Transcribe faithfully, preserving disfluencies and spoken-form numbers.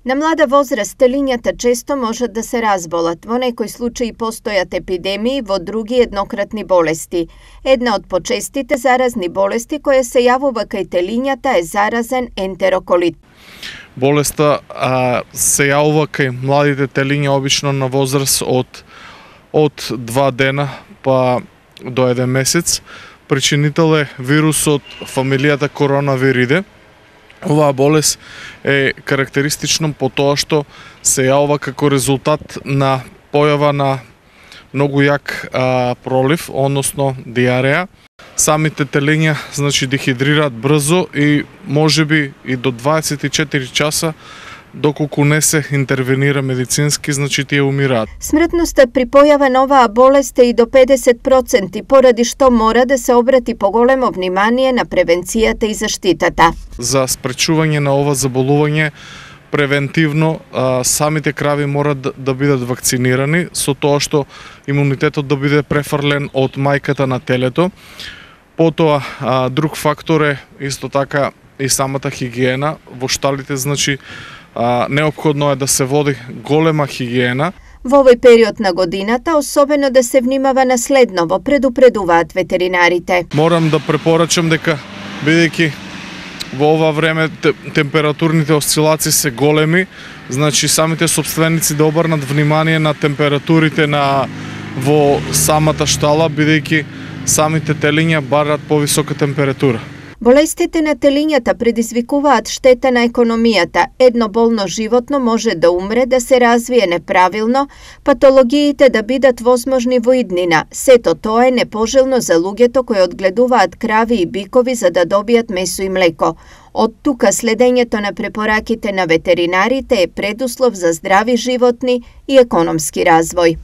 На млада возраст телињата често можат да се разболат. Во некои случаи постојат епидемии, во други еднократни болести. Една од почестите заразни болести која се јавува кај телињата е заразен ентероколит. Болеста а, се јавува кај младите телиња обично на возраст од од два дена па до еден месец. Причинител е вирусот фамилијата коронавириде. Оваа болест е карактеристична по тоа што се јавува како резултат на појава на многу јак а, пролив, односно диареја. Самите телиња значи дехидрираат брзо и можеби и до дваесет и четири часа доколку не се интервенира медицински, значи тие умираат. Смртноста при појава на оваа болест е и до педесет проценти, поради што мора да се обрати поголемо внимание на превенцијата и заштитата. За спречување на ова заболување превентивно а, самите крави морат да, да бидат вакцинирани со тоа што имунитетот да биде префрлен од мајката на телето. Потоа а, друг фактор е исто така и самата хигиена во шталите, значи А, неопходно е да се води голема хигиена. Во овој период на годината особено да се внимава на следново, предупредуваат ветеринарите. Морам да препорачам дека бидејќи во ова време температурните осцилации се големи, значи самите собственици да обрнат внимание на температурите на во самата штала, бидејќи самите телиња бараат повисока температура. Болестите на телињата предизвикуваат штета на економијата. Едно болно животно може да умре, да се развие неправилно, патологиите да бидат возможни во иднина. Сето тоа е непожелно за луѓето кои одгледуваат крави и бикови за да добијат месо и млеко. Од тука следењето на препораките на ветеринарите е предуслов за здрави животни и економски развој.